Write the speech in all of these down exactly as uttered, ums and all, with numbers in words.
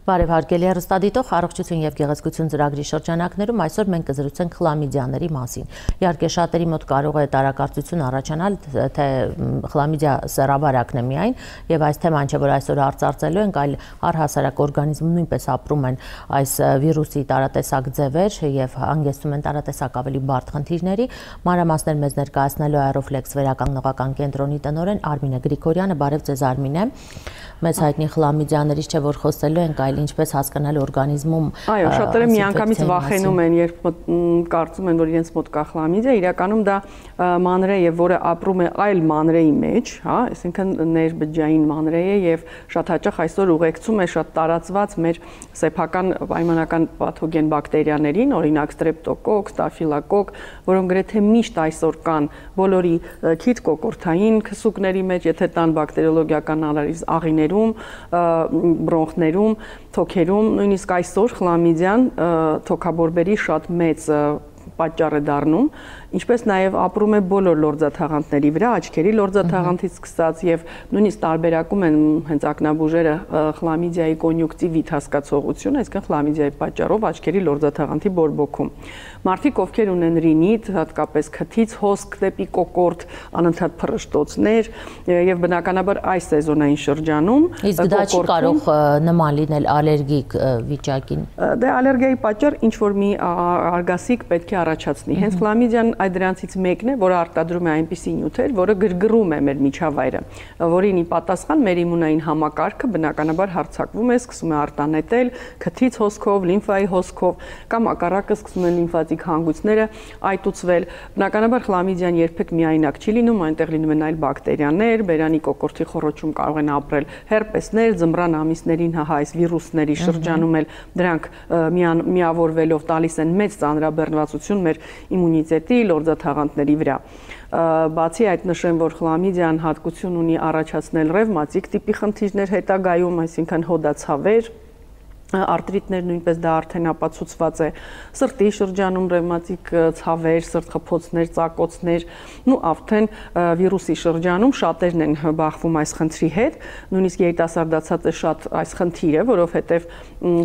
Բարև հարգելի հեռուստադիտող, առողջություն եւ գեղեցկություն ծրագրի շրջանակներում այսօր մենք կզրուցենք խլամիդիաների մասին։ Իհարկե շատերի մոտ կարող է տարակարծություն առաջանալ, թե խլամիդիա սեռավարակն է միայն, եւ այս թեման չէ, որ այսօր արծարծելու ենք, այլ առհասարակ օրգանիզմում նույնպես ապրում են այս վիրուսի տարատեսակ ձևեր եւ հանգեցնում են տարատեսակ ավելի բարդ խնդիրների։ Մանրամասներ մեզ ներկայացնելու է Aeroflex վերականգնողական կենտրոնի տնօրեն Արմինե Գրիգորյանը։ Բարև ձեզ Արմինե։ Մեծ հայտնի խլամիդիաներից չէ, որ խոսելու ենք, այլ ինչպես հասկանալ օրգանիզմում։ Այո, շատերը միանգամից վախենում են, երբ կարծում են, որ իրենց մոտ կա խլամիդիա, իրականում դա մանրե է, որը ապրում է այլ մանրեի մեջ, հա, այսինքն ներբջջային մանրե է եւ շատ հաճախ այսօր ուղեկցում է շատ տարածված մեր սեփական պայմանական պաթոգեն բակտերիաներին, օրինակ ստրեպտոկոկ, ստաֆիլոկոկ, որոնք գրեթե միշտ այսօր կան բոլորի քիթ կոկորթային քսուկների մեջ, եթե տան բակտերիոլոգիական անալիզ աղիներում, բրոնխներում, թոքերում, նույնիսկ այսօր խլամիդիան թոքաբորբերի շատ մեծ պատճառ է դառնում, ինչպես նաև ապրում է բոլոր լորձաթաղանթների վրա, աչքերի լորձաթաղանթից սկսած եւ նույնիսկ տարբերակում են հենց ակնաբուժերը խլամիդիայի կոնյուկտիվիտ հասկացողություն, այսինքն խլամիդիայի պատճառով աչքերի լորձաթաղանթի բորբոքում։ Մարդիկ, ովքեր ունեն ռինիտ, հատկապես քթից հոսք դեպի կոկորտ, անընդհատ փռշտոցներ եւ բնականաբար այս սեզոնային շրջանում իսկ դա չի կարող նման լինել ալերգիկ վիճակին։ Դե ալերգիայի պատճառ ինչ որ մի արգասիկ պետք է առաջացնի։ Հենց խլամիդիան այդ դրանցից մեկն է, որը արտադրում է այնպիսի նյութեր, որը գրգռում է մեր միջավայրը, որին ի պատասխան մեր իմունային համակարգը բնականաբար հարձակվում է, սկսում է արտանետել քթից հոսքով, լիմֆայի հոսքով կամ հակառակը սկսում են լիմֆատիկ հանգույցները այտուցվել։ Բնականաբար խլամիդիան երբեք միայնակ չի լինում, այնտեղ լինում են այլ բակտերիաներ, բերանի կոկորտի խոռոչում կարող են ապրել հերպեսներ, ձմռան ամիսներին հա այս վիրուսների շրջանում էլ դրանք միավորվելով տալիս են մեծ ծանրաբեռնվածություն մեր իմունիտետի լորձաթաղանթների վրա։ Բացի այդ նշեմ, որ խլամիդիան հատկություն ունի առաջացնել ռևմատիկ տիպի խնդիրներ հետագայում, այսինքն հոդացավեր, արտրիտներ նույնպես դա արդեն ապացուցված է, սրտի շրջանում ռևմատիկ ցավեր, սրտխփոցներ, ծակոցներ, ու արդեն վիրուսի շրջանում շատերն են բախվում այս խնդրի հետ, նույնիսկ երիտասարդացած է շատ այս խնդիրը, որովհետև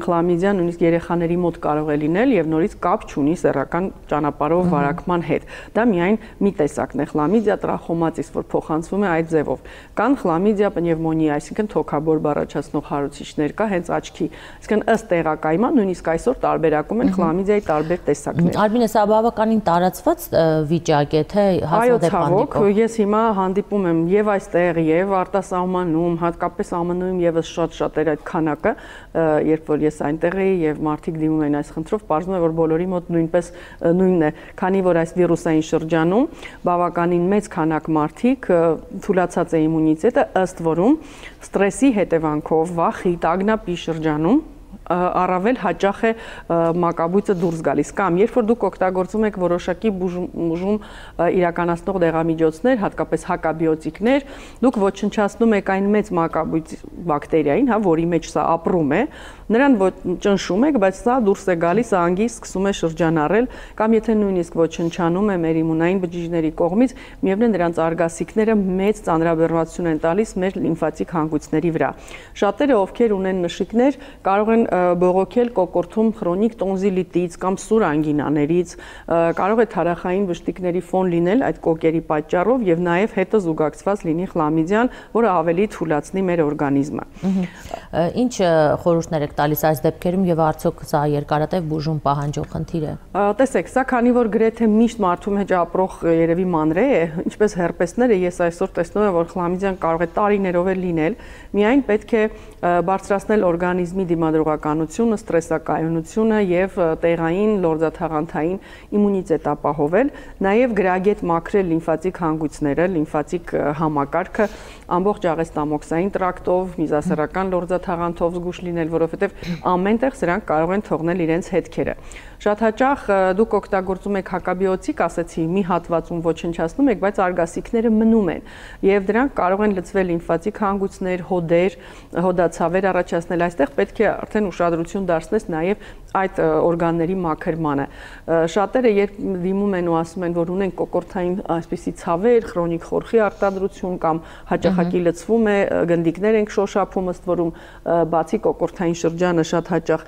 խլամիդիան նույնիսկ երեխաների մոտ կարող է լինել եւ նորից կապ չունի սեռական ճանապարհով վարակման հետ։ Դա միայն մի տեսակն է խլամիդիա տրախոմատիս, որ փոխանցվում է այդ ձևով։ Կան խլամիդիա պնևմոնիա, այսինքն թոքաբորբ առաջացնող հարուցիչներ կա հենց աչքի, ըստ տեղակայման նույնիսկ այսօր տարբերակում են խլամիդիայի տարբեր տեսակներ։ Արմինե, սա բավականին տարածված վիճակ է, թե հազվադեպ հանդիպում։ Ես հիմա հանդիպում եմ եւ այստեղ, եւ արտասահմանում, հատկապես Α Մ Ն-ում եւս շատ-շատ էր այդ քանակը, երբ որ ես այնտեղ էի եւ մարդիկ դիմում են այս խնդրով, պարզվում է, որ բոլորի մոտ նույնպես նույնն է, քանի որ այս վիրուսային շրջանում բավականին մեծ քանակ մարդիկ թուլացած է իմունիտետը, ըստ որում ստրեսի հետևանքով վախի, տագնապի շրջանում առավել հաճախ է մակաբույծը դուրս գալիս կամ երբ որ դուք օգտագործում եք որոշակի բուժում իրականացնող դեղամիջոցներ, հատկապես հակաբիոտիկներ, դուք ոչնչացնում եք այն մեծ մակաբույծ բակտերիային, հա, որի մեջ սա ապրում է, նրան ճնշում եք, բայց սա դուրս է գալիս, անգիս սկսում է շրջանառել, կամ եթե նույնիսկ ոչնչանում է մեր իմունային բջիջների կողմից, միևնույն նրանց արգասիքները մեծ ծանրաբեռնվածություն են տալիս մեր լիմֆատիկ հանգույցների վրա։ Շատերը, ովքեր ունեն նշիկներ, կարող են բողոքել կոկորտում քրոնիկ տոնզիլիտից կամ սուր անգինաներից, կարող է թարախային վշտիկների ֆոն լինել այդ կոկերի պատճառով եւ նաեւ հետը զուգակցված լինի խլամիդիան, որը ավելի թուլացնի մեր օրգանիզմը։ Ինչ խորհուրդներ եք տալիս այս դեպքերում եւ արդյոք սա երկարատև բուժում պահանջող խնդիր է։ Տեսեք, սա քանի որ գրեթե միշտ մարդու մեջ ապրող երևի մանրե է, ինչպես հերպեսները, ես այսօր տեսնում եմ, որ խլամիդիան կարող է տարիներով էլ լինել, միայն պետք է բարձրացնել օրգանիզմի դիմադրողականությունը, ստրեսակայունությունը եւ տեղային լորձաթաղանթային իմունիտետ ապահովել, նաեւ գրագետ մաքրել լիմֆատիկ հանգույցները, լիմֆատիկ համակարգը ամբողջ աղեստամոքսային տրակտով, միզասեռական լորձաթաղանթով զգուշ լինել, որովհետեւ ամենտեղ սրանք կարող են թողնել իրենց հետքերը։ Շատ հաճախ դուք օգտագործում եք հակաբիոտիկ, ասեցի, մի հատվածում ոչնչացնում եք, բայց արգասիքները մնում են եւ դրանք կարող են լցվել լիմֆատիկ հանգույցներ, հոդեր, հոդացավեր առաջացնել։ Այստեղ պետք է արդեն ուշադրություն դարձնես նաեւ այդ օրգանների մաքրմանը։ Շատերը երբ դիմում են ու ասում են, որ ունեն կոկորդային այսպիսի ցավեր, քրոնիկ խորխի արտադրություն կամ հաճախակի լցվում է, գնդիկներ ենք շոշափում, ըստ որում բացի կոկորդային շրջանը շատ հաճախ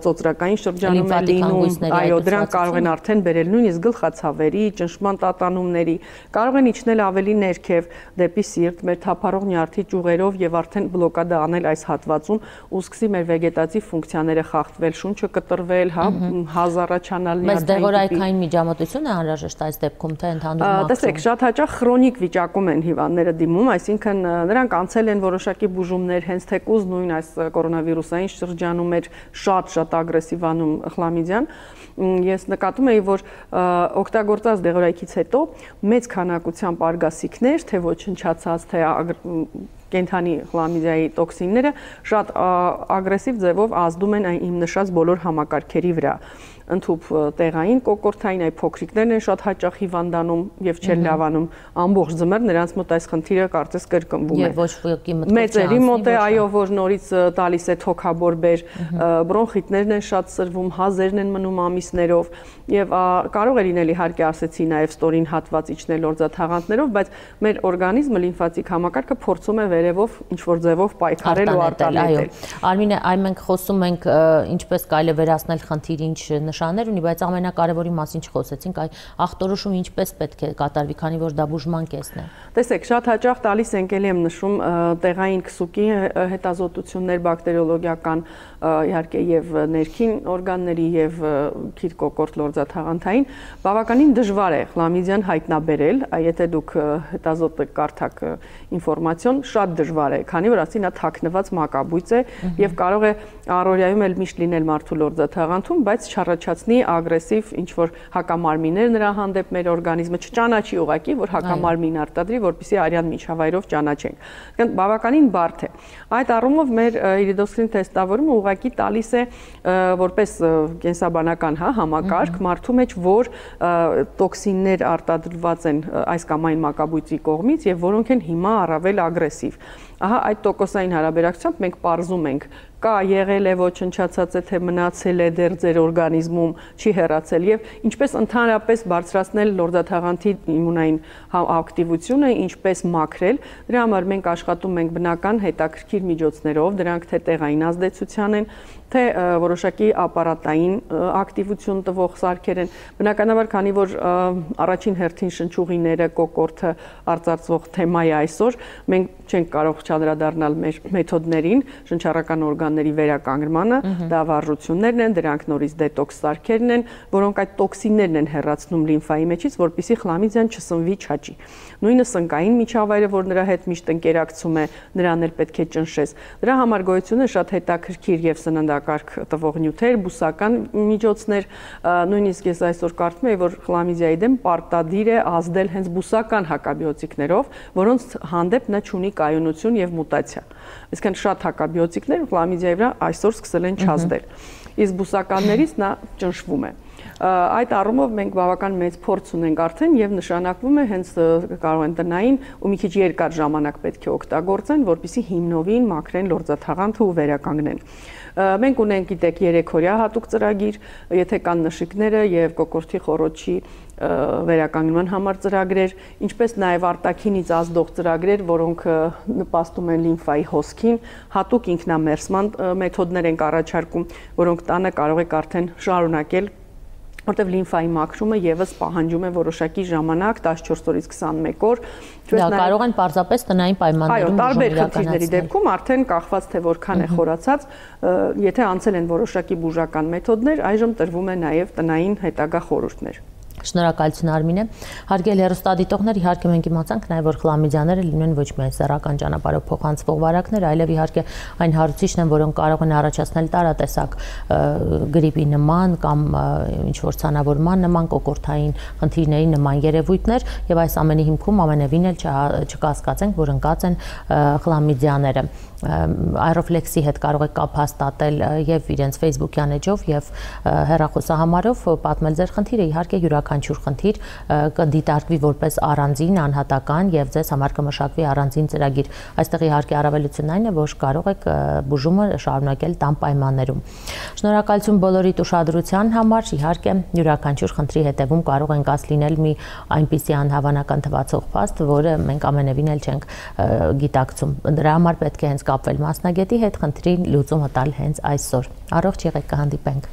ծոծրակային շրջանում է լինում, այո, դրանք կարող են արդեն բերել նույնիսկ գլխացավերի, ճնշման տատանումների, կարող են իջնել ավելի ներքև դեպի սիրտ, մեր թափառող նյարդի ճյուղերով եւ արդեն բլոկադա անել այս հատվածում ու սկսի մեր վեգետատիվ ֆունկցիաները խախտվել, շունչը կտրվել, հա, հազարաչանալ նյարդային։ Բայց դեղորայքային միջամտություն է անհրաժեշտ այս դեպքում, թե ընդհանուր մաքրում։ Տեսեք, շատ հաճախ քրոնիկ վիճակում են հիվանդները դիմում, այսինքն նրանք անցել են որոշակի բուժումներ, հենց թեկուզ նույն այս կորոնավիրուսային շրջանում էր շատ-շատ ագրեսիվ անում խլամիդիան։ Ես նկատում էի, որ օգտագործած դեղորայքից հետո մեծ քանակությամբ արգասիքներ, թե ոչնչացած, թե կենթանի խլամիդիայի տոքսինները շատ ագրեսիվ ձևով ազդում են այն իմ նշած բոլոր համակարգերի վրա։ Ընդհուպ տեղային կոկորդային այ փոքրիկներն են շատ հաճախ հիվանդանում եւ չեն լավանում ամբողջ ձմեռ նրանց մոտ այս խնդիրը կարծես կրկնվում է։ Եվ ոչ ոքի մտքով չի մեծերի մոտ է, այո, որ նորից տալիս է թոքաբորբեր, բրոնխիտներն են շատ սրվում, հազերն են մնում ամիսներով եւ կարող է լինել իհարկե ասեցի նաեւ ստորին հատված իջնել լորձաթաղանթներով, բայց մեր օրգանիզմը լիմֆատիկ համակարգը փորձում է վերևով ինչ որ ձևով պայքարել ու արտանետել։ Արմինե, այ մենք խոսում ենք ինչպես կարելի է վերացնել խնդիրը, ինչ նշաններ ունի, բայց ամենակարևորի մասին չխոսեցինք, այ ախտորոշումը ինչպես պետք է կատարվի, քանի որ դա բուժման կեսն է։ Տեսեք, շատ հաճախ տալիս ենք, ելի եմ նշում, տեղային քսուկի հետազոտություններ բակտերիոլոգիական, իհարկե եւ ներքին օրգանների եւ քիթ կոկորտ լորձաթաղանթային, բավականին դժվար է խլամիդիան հայտնաբերել, եթե դուք հետազոտը կարդաք ինֆորմացիոն, շատ դժվար է, քանի որ ասի նա թաքնված մակաբույծ է եւ կարող է առօրյայում էլ միշտ լինել մարդու լորձաթաղանթում, բայց չառաջացնի ագրեսիվ ինչ որ հակամարմիններ նրա հանդեպ մեր օրգանիզմը չճանաչի ուղակի, որ հակամարմին արտադրի, որպեսզի արյան միջավայրով ճանաչենք։ Այսինքն բավականին բարդ է։ Այդ առումով մեր իրիդոսկրին թեստավորումը ուղակի տալիս է որպես կենսաբանական, հա, համակարգ մարդու մեջ, որ տոքսիններ արտադրված են այս կամ այն մակաբույծի կողմից եւ որոնք են հիմա առավել ագրեսիվ։ Ահա այդ տոկոսային հարաբերակցությամբ մենք պարզում ենք կա եղել է ոչնչացած է թե մնացել է դեռ ձեր օրգանիզմում չի հեռացել եւ ինչպես ընդհանրապես բարձրացնել լորձաթաղանթի իմունային ակտիվությունը, ինչպես մաքրել, դրա համար մենք աշխատում ենք բնական հետաքրքիր միջոցներով, դրանք թե տեղային ազդեցության են, թե որոշակի ապարատային ակտիվություն տվող սարքեր են, բնականաբար քանի որ առաջին հերթին շնչուղիները, կոկորդը արծարծվող թեմա է այսօր, մենք չենք կարող չանդրադառնալ մեր մեթոդներին, շնչառական օրգանների վերականգնմանը, դա վարժություններն են, դրանք նորից դետոքս սարքերն են, որոնք այդ տոքսիններն են հեռացնում լիմֆայի մեջից, որպեսզի խլամիդիան չսնվի, չաճի։ Նույնը սնկային միջավայրը, որ նրա հետ միշտ ընկերակցում է, նրան էլ պետք է ճնշես։ Դրա համար գոյություն է շատ հետաքրքիր եւ սննդակարգ տվող նյութեր, բուսական միջոցներ, նույնիսկ ես այսօր կարծում եմ, որ խլամիդիայի դեմ պարտադիր է ազդել հենց բուսական հակաբիոտիկներով, որոնց հանդեպ նա չունի կայունություն եւ մուտացիա։ Այսինքն շատ հակաբիոտիկներ խլամիդիայի վրա այսօր սկսել են չազդել։ Իսկ բուսականներից նա ճնշվում է։ Այդ առումով մենք բավական մեծ փորձ ունենք արդեն եւ նշանակվում է հենց կարող են տնային ու մի քիչ երկար ժամանակ պետք է օգտագործեն, որպեսզի հիմնովին մաքրեն լորձաթաղանթը ու վերականգնեն։ Մենք ունենք, գիտեք, երեքօրյա հատուկ ծրագիր, եթե կան նշիկները եւ կոկորդի խոռոչի վերականգնման համար ծրագրեր, ինչպես նաեւ արտաքինից ազդող ծրագրեր, որոնք նպաստում են լիմֆայի հոսքին, հատուկ ինքնամերսման մեթոդներ ենք առաջարկում, որոնք տանը կարող եք արդեն շարունակել, որտեղ լիմֆայի մաքրումը եւս պահանջում է որոշակի ժամանակ, տասնչորս օրից քսանմեկ օր։ Դա կարող են պարզապես տնային պայմաններում այո, տարբեր խնդիրների դեպքում արդեն կախված թե որքան է խորացած, եթե անցել են որոշակի բուժական մեթոդներ, այժմ տրվում է նաեւ տնային հետագա խորհուրդներ։ Շնորհակալություն Արմինե։ Հարգելի հեռուստադիտողներ, իհարկե մենք իմացանք նաև որ խլամիդիաները լինեն ոչ միայն սեռական ճանապարհով փոխանցվող վարակներ, այլև իհարկե այն հարուցիչն են, որոնք կարող են առաջացնել տարատեսակ գրիպի նման կամ ինչ որ ցանավորման նման կոկորտային խնդիրների նման երևույթներ, եւ այս ամենի հիմքում ամենևին էլ չկասկածենք, որ ընկած են խլամիդիաները։ Aeroflex-ի հետ կարող եք կապ հաստատել եւ իրենց Facebook-յան էջով եւ հեռախոսահամարով պատմել ձեր խնդիրը, իհարկե յուրաքանչյուր խնդիր կդիտարկվի որպես առանձին անհատական եւ ձեզ համար կմշակվի առանձին ծրագիր։ Այստեղ իհարկե առավելությունն այն է, որ կարող եք բուժումը շարունակել տան պայմաններում։ Շնորհակալություն բոլորիդ ուշադրության համար, իհարկե յուրաքանչյուր խնդրի հետևում կարող են կաս լինել մի այնպիսի անհավանական թվացող փաստ, որը մենք ամենևին էլ չենք գիտակցում։ Դրա համար պետք է հենց կապվել մասնագետի հետ, խնդրին լուծումը տալ հենց այսօր։ Առողջ եղեք, կհանդիպենք։